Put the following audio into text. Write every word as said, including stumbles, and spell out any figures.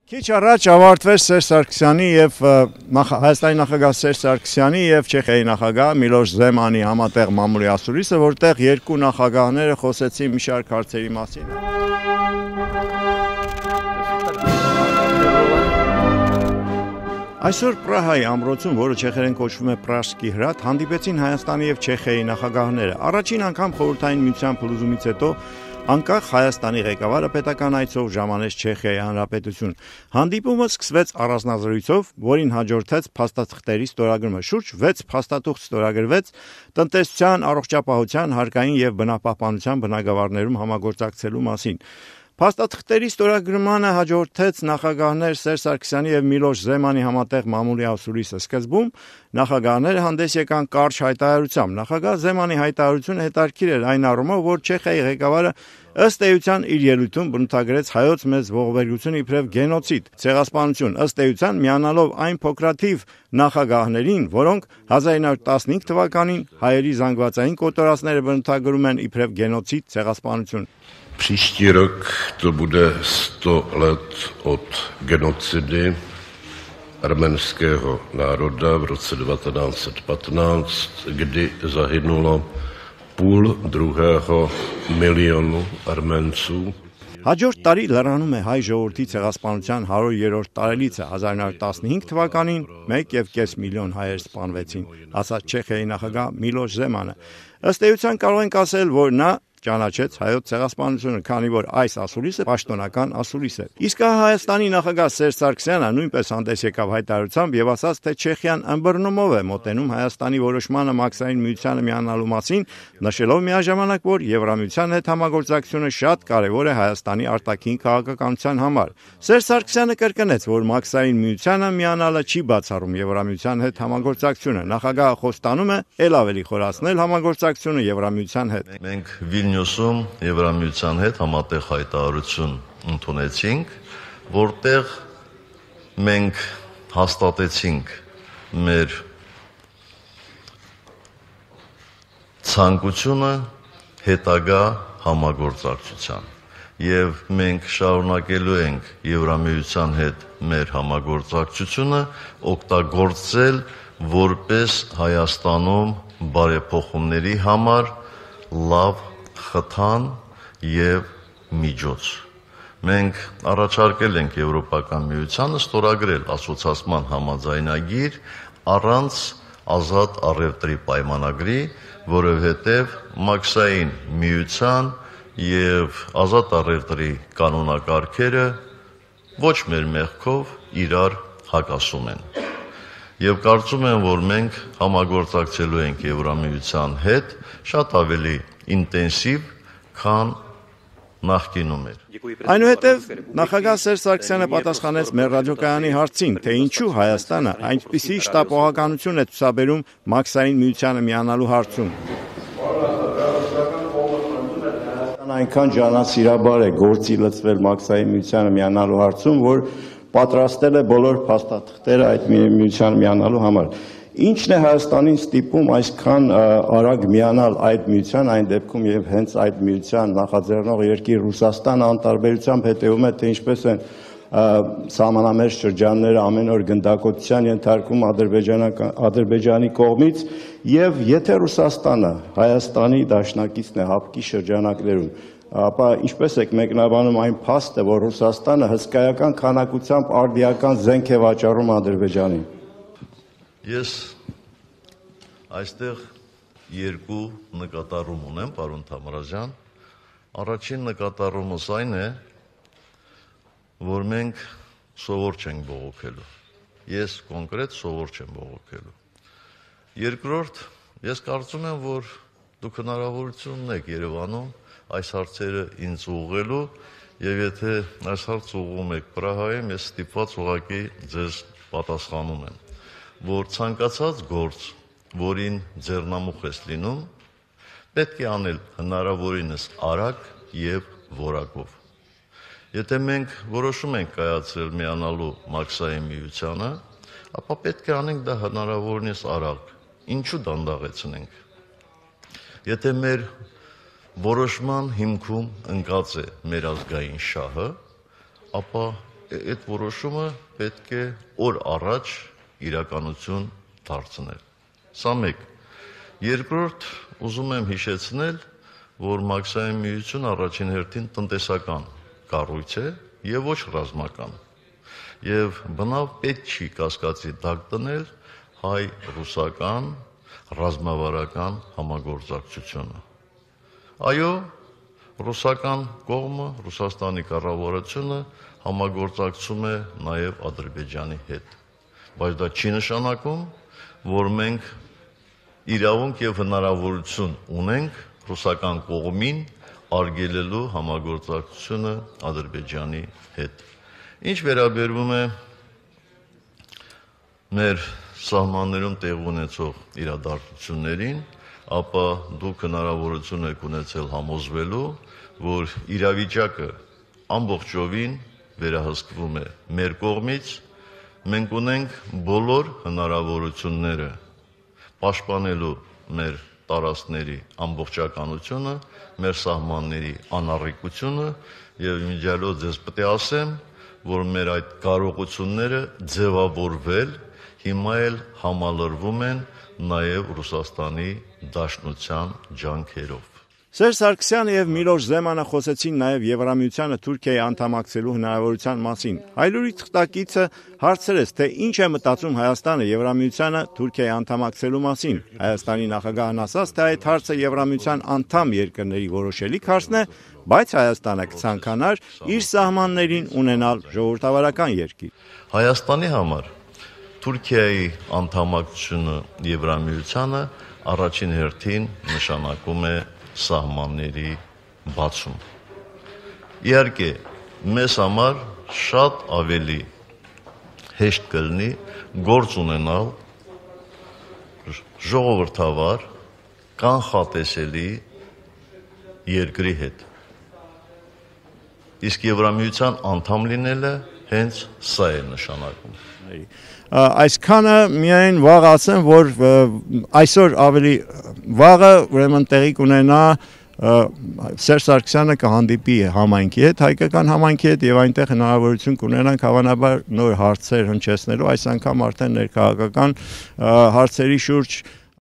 Քիչ առաջ ավարտվեց Սերժ Սարգսյանի եւ Հայաստանի նախագահ Սերժ Սարգսյանի եւ Չեխիայի նախագահ Միլոշ Զեմանի համատեղ մամուլի ասուլիսը, որտեղ երկու նախագահները խոսեցին մի շարք հարցերի մասին։ Այսօր Պրահայի ամրոցում, որը չեխերեն կոչվում է Պրաշկի հրատ, հանդիպեցին Հայաստանի եւ Չեխիայի նախագահները։ Առաջին անգամ խորհրդային միության փլուզումից հետո անկախ Հայաստանի ղեկավարը պետական այցով ժամանեց Չեխիայի Հանրապետություն։ Հանդիպումը սկսվեց առանձնազրույցով, որին հաջորդեց փաստաթղթերի ստորագրումը։ Շուրջ վեց փաստաթուղթ ստորագրվեց տնտեսության, առողջապահության, հարկային եւ բնապահպանության բնագավառներում համագործակցելու մասին։ Փաստաթղթերի ստորագրմանը հաջորդեց նախագահներ Սերժ Սարգսյանի եւ Միլոշ Զեմանի համատեղ մամուլի ասուլիսը։ Սկզբում նախագահները հանդես եկան կարճ հայտարարությամբ։ Նախագահ Զեմանի հայտարարությունը հետաքրքիր էր այն առումով, որ Չեխիայի ղեկավարը ըստ էության իր ելույթում բնութագրեց հայոց մեծ ողբերգությունը իբրև գենոցիդ, ցեղասպանություն, ըստ էության միանալով այն փոքրաթիվ նախագահներին, որոնք հազար ինը հարյուր տասնհինգ թվականին հայերի զանգվածային կոտորածները բնութագրում են իբրև գենոցիդ, ցեղասպանություն։ Příští rok to bude sto let od genocidy arménského národa v roce devatenáct set patnáct, kdy zahynulo půl druhého milionu Arménců. Հաջորդ տարի լրանում է հայ ժողովրդի ցեղասպանության հարյուրերորդ տարելիցը։ հազար ինը հարյուր տասնհինգ թվականին մեկ եւ կես միլիոն հայեր սպանվեցին, ասաց Չեխիայի նախագահ Միլոշ Զեմանը։ Ըստ էության կարող ենք ասել, որ նա ճանաչեց հայոց ցեղասպանությունը, քանի որ այս ասուլիսը պաշտոնական ասուլիս է։ Իսկ Հայաստանի նախագահ Սերժ Սարգսյանը նույնպես հանդես եկավ հայտարարությամբ եւ ասաց, թե Չեխիան ըմբռնումով է մոտենում Հայաստանի որոշմանը մաքսային միությանը միանալու մասին, նշելով միաժամանակ, որ Եվրամիության հետ համագործակցությունը շատ կարեւոր է Հայաստանի արտաքին քաղաքականության համար։ Սերժ Սարգսյանը կրկնեց, որ մաքսային միությանը միանալը չի բացառում Եվրամիության հետ համագործակցությունը։ Նախագահը խոստանում է ել ավելի խորացնել համագործակցությունը Եվրամիության հետ։ Մենք Վիլնյուսում Եվրամիության հետ համատեղ հայտարարություն ընդունեցինք, որտեղ մենք հաստատեցինք մեր ցանկությունը հետագա համագործակցության եւ մենք շարունակելու ենք Եվրամիության հետ մեր համագործակցությունը օգտագործել որպես Հայաստանում բարեփոխումների համար լավ խթան եւ միջոց։ Մենք առաջարկել ենք Եվրոպական միությանը ստորագրել ասոցիացիան համաձայնագիր առանց ազատ առևտրի պայմանագրի, որովհետեւ մաքսային միության եւ ազատ առևտրի կանոնակարգերը ոչ մեր մեղքով իրար հակասում են։ Եվ կարծում եմ, որ մենք համագործակցելու ենք Եվրամիության հետ շատ ավելի ինտենսիվ, քան նախկինում էր։ Այնուհետև նախագահ Սերժ Սարգսյանը պատասխանեց մեր ռադիոկայանի հարցին, թե ինչու Հայաստանը այնպիսի շտապողականություն է ցուցաբերում մաքսային միությանը միանալու հարցում։ Այնքան ջանասիրաբար է գործի լծվել մաքսային միությանը միանալու հարցում, որ պատրաստել է բոլոր փաստաթղթերը այդ միությանը միանալու համար։ Ինչն է Հայաստանին ստիպում այսքան արագ միանալ այդ միության, այն դեպքում եւ հենց այդ միության նախաձեռնող երկիր Ռուսաստանը անտարբերությամբ հետևում է, թե ինչպես են սահմանամերձ շրջանները ամեն օր գնդակոծության ենթարկվում Ադրբեջանի կողմից, եւ եթե Ռուսաստանը Հայաստանի դաշնակիցն է հապկի շրջանակներում, ապա ինչպես եք մեկնաբանում այն փաստը, որ Ռուսաստանը հսկայական քանակությամբ արդիական զենք է վաճառում Ադրբեջանին։ Ես այստեղ երկու նկատառում ունեմ, պարոն Թամրազյան։ Առաջին նկատառումս այն է, որ մենք սովոր չենք բողոքելու։ Ես կոնկրետ սովոր չեմ բողոքելու։ Երկրորդ, ես կարծում եմ, որ դուք հնարավորություն ունեք Երևանում այս հարցերը ինձ ուղղելու, եւ եթե այս հարց ուղղում եք Պրահայում, ես ստիպված ուղղակի ձեզ պատասխանում եմ, որ ցանկացած գործ, որին ձեռնամուխ ես լինում, պետք է անել հնարավորինս արագ եւ որակով։ Եթե մենք որոշում ենք կայացրել միանալու մաքսային միությանը, ապա պետք է անենք դա հնարավորինս արագ։ Ինչու դանդաղեցնենք։ Եթե մեր որոշման հիմքում ընկած է մեր ազգային շահը, ապա այդ որոշումը պետք է օր առաջ իրականություն դարձնել։ Սա մեկ։ Երկրորդ, ուզում եմ հիշեցնել, որ մաքսային միությունը առաջին հերթին տնտեսական կառույց է եւ ոչ ռազմական։ Եվ բնավ պետք չի կասկածի տակ դնել հայ-ռուսական ռազմավարական համագործակցությունը։ Այո, ռուսական կողմը, Ռուսաստանի կառավարությունը համագործակցում է նաև Ադրբեջանի հետ, բայց դա չի նշանակում, որ մենք իրավունք եւ հնարավորություն ունենք ռուսական կողմին արգելելու համագործակցությունը Ադրբեջանի հետ։ Ինչ վերաբերում է մեր սահմաններում տեղ ունեցող իրադարձություններին, ապա դուք հնարավորություն եք ունեցել համոզվելու, որ իրավիճակը ամբողջովին վերահսկվում է մեր կողմից, մենք ունենք բոլոր հնարավորությունները պաշտպանելու մեր տարածքների ամբողջականությունը, մեր սահմանների անառիկությունը եւ իմիջիալով ձեզ պետք է ասեմ, որ մեր այդ կարողությունները ձևավորվել հիմա էլ համալրվում են նաև Ռուսաստանի Դաշնության ջանքերով։ Սերժ Սարգսյանը եւ Միլոշ Զեմանը խոսեցին նաև Եվրամիությանը Թուրքիայի անդամակցելու հնարավորության մասին։ Հայլուրի թղթակիցը հարցրեց, թե ինչ է մտածում Հայաստանը Եվրամիությանը Թուրքիայի անդամակցելու մասին։ Հայաստանի նախագահն ասաց, թե այդ հարցը Եվրամիության անդամ երկրների որոշելիք հարցն է, բայց Հայաստանը կցանկանար իր սահմաններին ունենալ ժողովրդավարական երկիր։ Հայաստանի համար Թուրքիայի անդամակցությունը Եվրամիությանը առաջին հերթին նշանակում է սահմանների բացում։ Իհարկե, մեզ համար շատ ավելի հեշտ կլինի գործ ունենալ ժողովրդավար, կանխատեսելի երկրի հետ։ Իսկ Եվրամիության անդամ լինելը հենց սա է նշանակում։ Այսքանը միայն վաղ ասեմ, որ այսօր ավելի վաղը ուրեմն տեղի կունենա Սերժ Սարգսյանը կհանդիպի համայնքի հետ, հայկական համայնքի հետ եւ այնտեղ հնարավորություն կունենանք հավանաբար նոր հարցեր հնչեցնելու, այս անգամ արդեն ներքաղաքական հարցերի շուրջ